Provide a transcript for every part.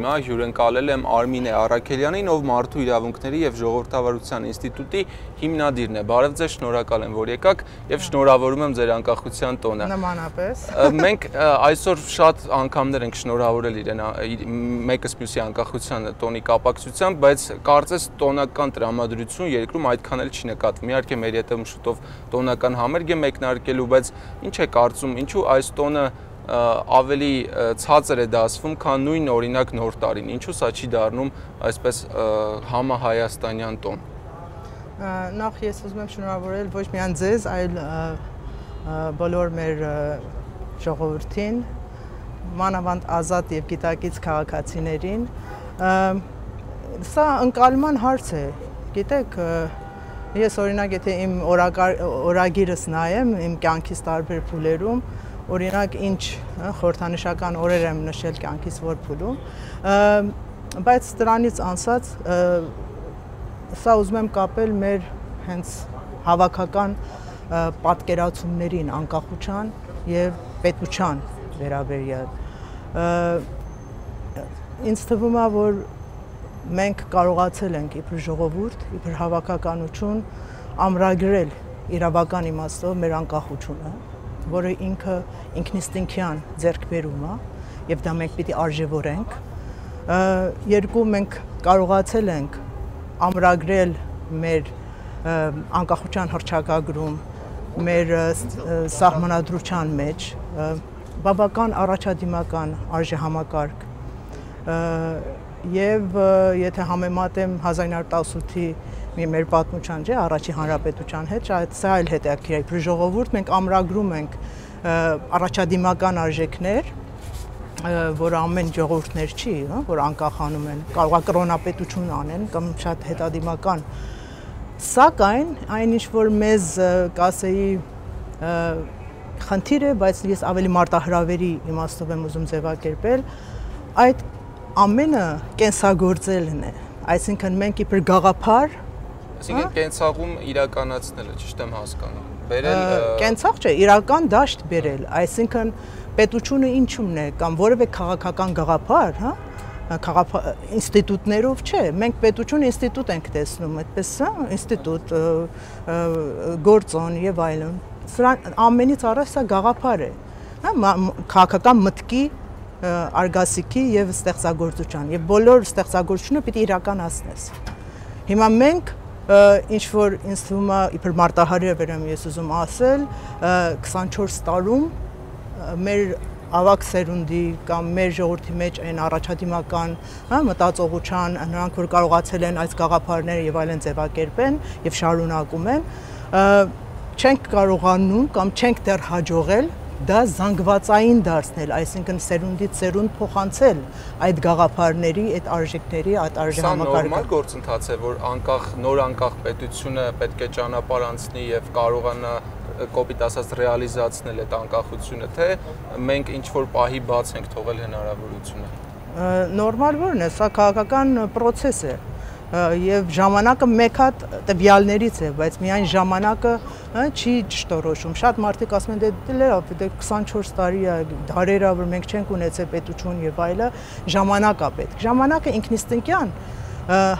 Հիմա հյուրընկալել եմ Արմինե Առաքելյանին, ով Մարդու իրավունքների եւ ժողովրդավարության ինստիտուտի հիմնադիրն է։ Բարև ձեզ, շնորհակալ եմ, որ եկաք եւ շնորհավորում եմ ձեր անկախության տոնը։ Նմանապես։ Մենք այսօր շատ անգամներ ենք շնորհավորել իրեն մեկս մյուսի անկախության տոնի կապակցությամբ, բայց կարծես տոնական տրամադրություն երկրում այդքան էլ չի նկատվում։ Իհարկե մեր հետ շուտով տոնական համերգ է մեկնարկելու, բայց ինչ է կարծում, ինչու այս տոնը ավելի ցածր է դասվում, քան նույն օրինակ նոր տարին։ Ինչու սա չի դառնում այսպես համահայաստանյան տոն։ Նախ ես ուզում եմ շնորհավորել ոչ միայն ձեզ, այլ բոլոր մեր ժողովրդին, մանավանդ ազատ եւ գիտակից քաղաքացիներին։ Սա ընկալման հարց է։ Գիտեք, ես օրինակ եթե իմ օրագիրս նայեմ, իմ կյանքից տարբեր փուլերում, օրինակ ինչ խորհրդանշական օրեր եմ նշել կյանքից որ փուլում, բայց դրանից անցած սա ուզում եմ կապել մեր հենց հավաքական պատկերացումներին անկախության եւ պետության վերաբերյալ։ Ինձ թվում է, որ մենք կարողացել ենք իբր ժողովուրդ, իբր հավաքականություն ամրագրել իրավական իմաստով մեր անկախությունը, որը ինքը ինքնիստինքյան ձեռքբերում է եւ դա մենք պիտի արժևորենք։ Երկու մենք կարողացել ենք ամրագրել մեր անկախության հռչակագրում, մեր սահմանադրության մեջ բավական առաջադիմական արժեհամակարգ եւ եթե համեմատեմ 1918-ի մեր պատմության, չէ, առաջի հանրապետության հետ, սա այլ հետաքրքիր է։ Ժողովուրդ մենք ամրագրում ենք առաջադիմական արժեքներ, որ ամեն ժողովուրդներ չի, որ անկախանում են, կարող է կրոնապետություն անեն կամ շատ հետադիմական։ Սակայն այն ինչ որ մեզ կասեի խնդիր է, բայց ես ավելի մարտահրավերի իմաստով եմ ուզում ձևակերպել, այդ ամենը կենսագործելն է, այսինքն մենք իբր գաղափար Այսինքն կենցաղում իրականացնելը, ճիշտ եմ հասկանում։ Կենցաղ չէ, իրական դաշտ բերել, այսինքն պետությունը ինչումն է կամ որևէ քաղաքական գաղափար, ինստիտուտներով չէ, մենք պետություն ինստիտուտ ենք տեսնում, այդպես ինստիտուտ, գործոն եւ այլն։ Սրան ամենից առաջ սա գաղափար է, քաղաքական մտքի, արգասիքի եւ ստեղծագործության եւ բոլոր ստեղծագործությունը պիտի իրականացնես։ Հիմա մենք ինչ որ ինձ թվում է իբր մարտահրավեր եմ ես ուզում ասել 24 տարում մեր ավակ սերունդի կամ մեր ժողովրդի մեջ այն առաջադիմական մտածողության նրանք որ կարողացել են այս գաղափարները եւ այլն ձևակերպեն եւ շարունակում են չենք կարողանում կամ չենք դեռ հաջողել դա զանգվածային դարձնել, այսինքն սերունդից սերունդ փոխանցել այդ գաղափարների, այդ արժեքների, այդ արժեհամակարգը։ Սա նորմալ գործընթաց է, որ նոր անկախ պետությունը պետք է ճանապարհ անցնի եւ կարողանա կոպիտ ասած ռեալիզացնել այդ անկախությունը, թե մենք ինչ որ պահի բաց ենք թողել հնարավորությունը։ Նորմալ որն է, սա քաղաքական process է։ Եվ ժամանակը մեկ հատ տվյալներից է, բայց միայն ժամանակը չի ճշտորոշում։ Շատ մարդիկ ասում են դե 24 տարի է, դարեր է, որ մենք չենք ունեցել պետություն եւ այլը, ժամանակ է պետք։ Ժամանակը ինքնիստինքյան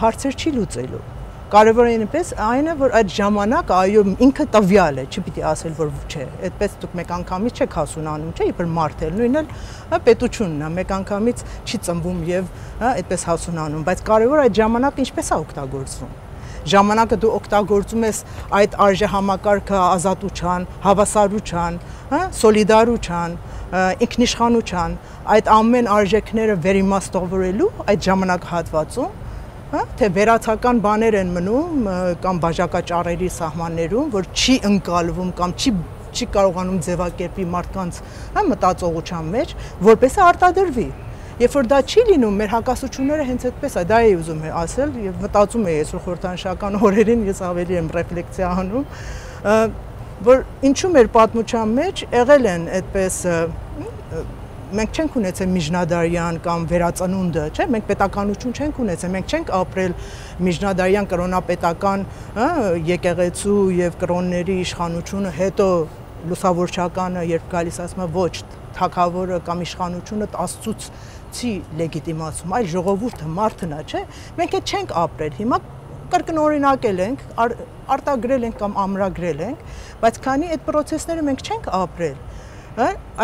հարցեր չի լուծելու։ Կարևորը այնպես այն է, որ այդ ժամանակը այո ինքը տվյալ է, չպիտի ասել որ չէ։ Այդպես դուք մեկ անգամից չեք հասունանում, չէ՞, իբր մարդել, նույնն էլ պետությունն է, մեկ անգամից չի ծնվում եւ այդպես հասունանում, բայց կարևորը այդ ժամանակը ինչպես է օգտագործվում։ Ժամանակը դու օգտագործում ես այդ արժեհամակարգը ազատության, հավասարության, սոլիդարության, ինքնիշխանության, այդ ամեն արժեքները վերիմաստավորելու այդ ժամանակահատվածում թե վերացական բաներ են մնում կամ բաժակաճառերի սահմաններում, որ չի ընկալվում կամ չի կարողանում ձևակերպի մարդկանց մտածողության մեջ, որպես արտադրվի։ Երբ որ դա չի լինում, մեր հակասությունները հենց այդպես է, դա էի ուզում ասել եւ մտածում էի այսօր խորհրդանշական օրերին ես ավելի եմ ռեֆլեկսիա անում, որ ինչու մեր պատմության մեջ եղել են այդպես մենք չենք ունեցել միջնադարյան կամ վերածնունդը, չէ՞, մենք պետականություն չենք ունեցել, մենք չենք ապրել միջնադարյան կրոնապետական եկեղեցու եւ կրոնների իշխանությունը, հետո լուսավորչականը երբ գալիս ասում է ոչ, թագավորը կամ իշխանությունը աստծուցի լեգիտիմացում, այլ ժողովուրդը, մարդն է, չէ։ Մենք այդ չենք ապրել։ Հիմա կրկնօրինակել ենք, արտագրել ենք կամ ամրագրել ենք, բայց քանի այդ process-ները մենք չենք ապրել,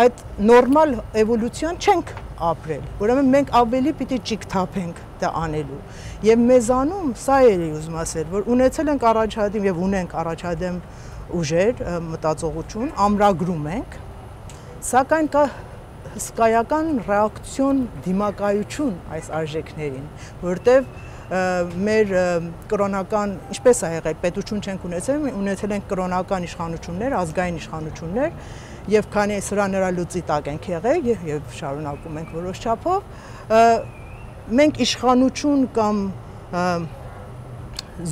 այդ նորմալ էվոլյուցիան չենք ապրել։ Ուրեմն մենք ավելի պիտի ճիգթափենք դա անելու։ Եվ մեզանում սա էլի ուզում ասել, որ ունեցել ենք առաջադեմ եւ ունենք առաջադեմ ուժեր, մտածողություն, ամրագրում ենք, սակայն կա հսկայական ռեակցիոն, դիմակայություն այս արժեքներին, որտեվ մեր կրոնական, ինչպես է եղել, պետություն չենք ունեցել ենք կրոնական իշխանություններ, ազգային իշխանություններ, եւ քանի սրա նրա լուծի տակ ենք եղել եւ շարունակում ենք որոշ չափով, մենք իշխանություն կամ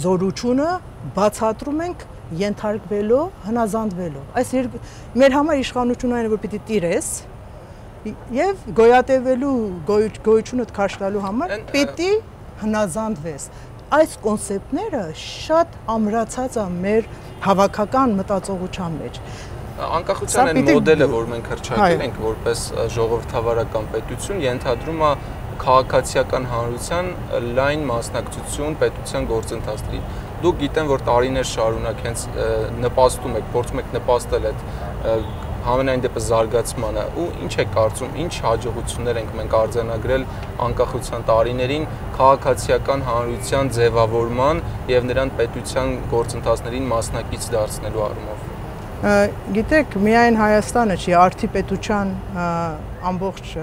զորությունը բացատրում ենք ենթարկվելով, հնազանդվելով։ Այս մեր համար իշխանությունը այն է, որ պիտի տիրես եւ գոյատևելու գոյությունդ քաշ տալու համար պիտի հնազանդվես։ Այս կոնցեպտները շատ ամրացած է մեր հավաքական մտածողության մեջ։ Անկախության այն մոդելը, որ մենք հռչակել ենք որպես ժողովրդավարական պետություն, ենթադրում է քաղաքացիական հանրության լայն մասնակցություն պետության գործընթացներին։ Դուք գիտեմ, որ տարիներ շարունակ հենց նպաստում եք, փորձում եք նպաստել այդ համենայն դեպս զարգացմանը, ու ինչ է կարծում, ինչ հաջողություններ ենք մենք արձանագրել անկախության տարիներին քաղաքացիական հանրության ձևավորման եւ նրան պետության գործընթացներին մասնակից դարձնելու առումով։ Գիտեք, միայն Հայաստանը չի, արդի պետության ամբողջ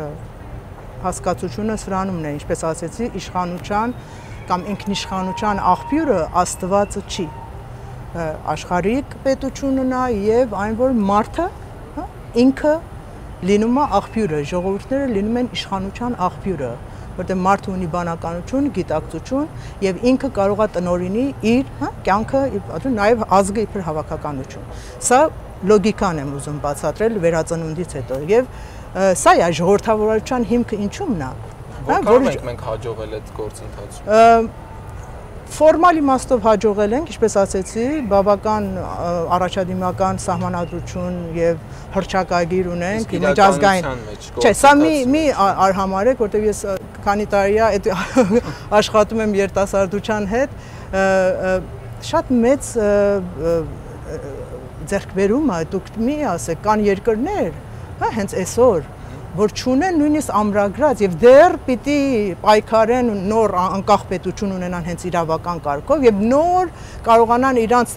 հասկացությունը սրանումն է, ինչպես ասեցի, իշխանության կամ ինքնիշխանության աղբյուրը Աստվածը չի։ Աշխարհիկ պետությունն է եւ այն, որ մարդը ինքը լինում է աղբյուրը, ժողովուրդները լինում են իշխանության աղբյուրը, որտեղ մարդը ունի բանականություն, գիտակցություն եւ ինքը կարող է տնօրինի իր կյանքը, նաեւ ազգը իբր հավաքականություն։ Սա լոգիկան եմ ուզում բացատրել վերածնունդից հետո եւ սա է ժողովրդավարության հիմքը ինչու՞մն է։ Որքան մենք հաջողել այդ գործընթացում։ Ֆորմալ իմաստով հաջողել ենք, ինչպես ասեցի, բավական առաջադիմական սահմանադրություն եւ հռչակագիր ունենք, միջազգային։ Չէ, սա մի արհամարեք, որտեղ ես քանի տարի է այդ աշխատում եմ երիտասարդության հետ, շատ մեծ ձեռքբերում է, դուք մի ասեք, կան երկրներ, հենց այսօր, որ չունեն նույնիսկ ամրագրած եւ դեռ պիտի պայքարեն նոր անկախ պետություն ունենան հենց իրավական կարգով եւ նոր կարողանան իրանց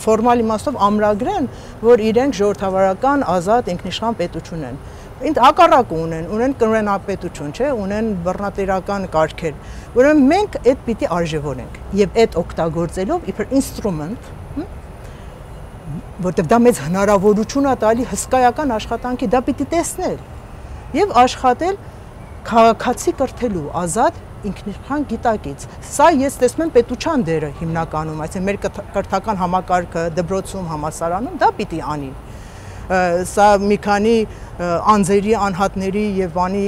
ֆորմալ իմաստով ամրագրեն, որ իրենք ժողովրդավարական ազատ ինքնիշխան պետություն են։ Ինձ հակառակը ունեն կրոնապետություն, չէ, ունեն բռնատիրական կարգեր։ Ուրեմն մենք այդ պիտի արժևորենք եւ այդ օգտագործելով իբր ինստրումենտ, որտեղ դա մեծ հնարավորություն է տալի հսկայական աշխատանքի, դա պիտի տեսնել եւ աշխատել քաղաքացի կրթելու ազատ ինքնիշխան գիտակից։ Սա ես տեսնում եմ պետության դերը հիմնականում, այսինքն մեր կրթական համակարգը դպրոցում, համալսարանում դա պիտի անի։ Սա մի քանի անձերի, անհատների եւ բանի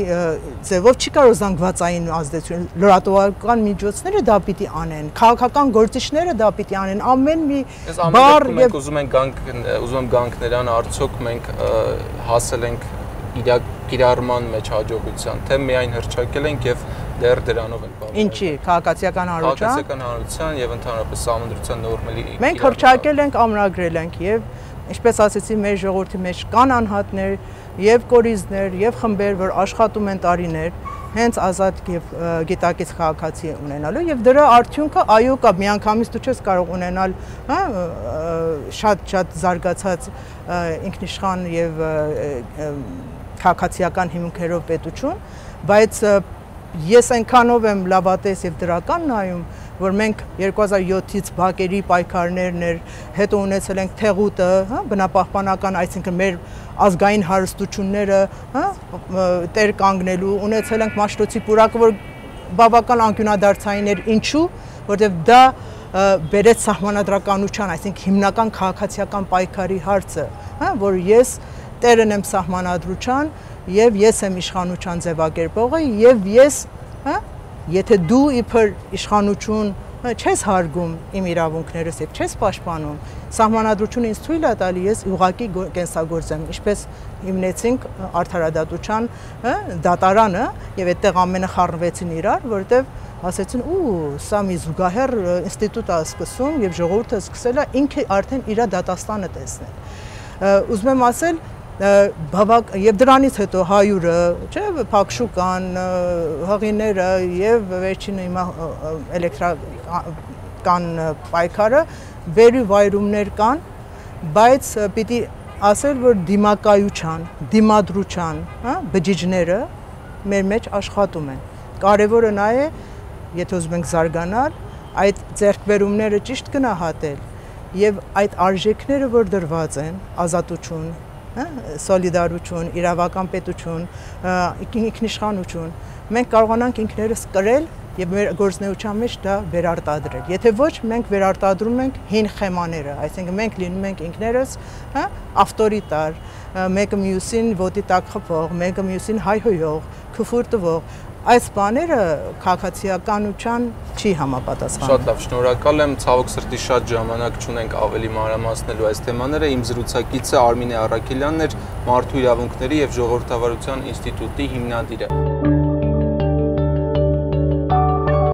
ձևով չի կարող զանգվածային ազդեցություն, լրատվական միջոցները դա պիտի անեն, քաղաքական գործիչները դա պիտի անեն, ամեն մի բառ եւ ուզում եմ գանք նրան, արդյոք մենք հասել ենք կիրառման մեջ հաջողության, թե միայն հռչակել ենք եւ դեռ դրանով ենք բավարարվել։ Ինչի, քաղաքացիական հանրության եւ ընդհանրապես սահմանադրության նորմերի։ Մենք հռչակել ենք, ամրագրել ենք եւ ինչպես ասեցի, մեր ժողովրդի մեջ կան անհատներ եւ կորիզներ եւ խմբեր, որ աշխատում են տարիներ, հենց ազատ եւ գիտակից քաղաքացի ունենալու եւ դրա արդյունքը այո կա, միանգամից դու չես կարող ունենալ, շատ զարգացած ինքնիշխան եւ քաղաքացիական հիմունքերով պետություն, բայց ես այնքանով եմ լավատես եւ դրական նայում, որ մենք 2007-ից բակերի պայքարներն էր, հետո ունեցել ենք Թեղուտը, բնապահպանական, այսինքն մեր ազգային հարստությունները, տեր կանգնելու, ունեցել ենք Մաշտոցի պուրակը, որ բավական անկյունադարձային էր, ինչու, որտեղ դա բերեց սահմանադրականության, այսինքն հիմնական քաղաքացիական պայքարի հարցը, որ ես տերն եմ սահմանադրության եւ ես եմ իշխանության ձևակերպողը եւ ես եթե դու իբր իշխանություն չես հարգում իմ իրավունքներս եւ չես պաշտպանում, սահմանադրությունը ինձ թույլ է տալի ես ուղղակի կենսագործեմ, ինչպես հիմնեցինք արդարադատության դատարանը եւ այդտեղ ամենը խառնվեցին իրար, որովհետեւ ասեցին սա մի զուգահեռ ինստիտուտ է սկսում եւ ժողովուրդը սկսել է ինքը արդեն իր դատաստանը տեսնել։ Ուզում եմ ասել բավակ եւ դրանից հետո հայուրը, չէ, Փակշուկան, հղիները եւ վերջինը հիմա էլեկտրական պայքարը վերի վայրումներ կան, բայց պիտի ասել, որ դիմակայության, դիմադրության, բջիջները մեր մեջ աշխատում են։ Կարևորը նա է, եթե ուզում ենք զարգանալ, այդ ձեռքբերումները ճիշտ գնահատել եւ այդ արժեքները, որ դրված են, ազատություն, սոլիդարություն, իրավական պետություն, ինքնիշխանություն, մենք կարողանանք ինքներս կրել եւ մեր գործնեության մեջ դա վերարտադրել։ Եթե ոչ, մենք վերարտադրում ենք հին խեմաները, այսինքն մենք լինում ենք ինքներս, ավտորիտար, մեկը մյուսին ոտի տակ խփող, մեկը մյուսին հայհոյող, քֆուր տվող, այս բաները քաղաքացիականության չի համապատասխանում։ Շատ լավ, շնորհակալ եմ, ցավոք սրտի շատ ժամանակ չունենք ավելի մանրամասնելու այս թեմաները։ Իմ զրուցակիցը Արմինե Առաքելյանն էր, Մարդու իրավունքների եւ ժողովրդավարության ինստիտուտի հիմնադիրը։